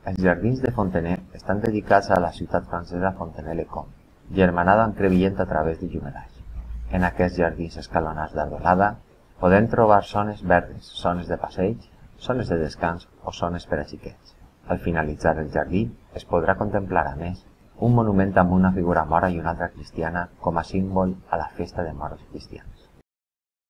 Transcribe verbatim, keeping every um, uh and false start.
Els jardins de Fontenay estan dedicats a la ciutat francesa Fontenay-le-Comte, germanada amb Crevillent a través de Jumelage. En aquests jardins escalonats d'arbrelada podem trobar zones verdes, zones de passeig, zones de descans o zones per a xiquets. Al finalitzar el jardí es podrà contemplar, a més, un monument amb una figura mora i una altra cristiana com a símbol a la festa de moros cristians.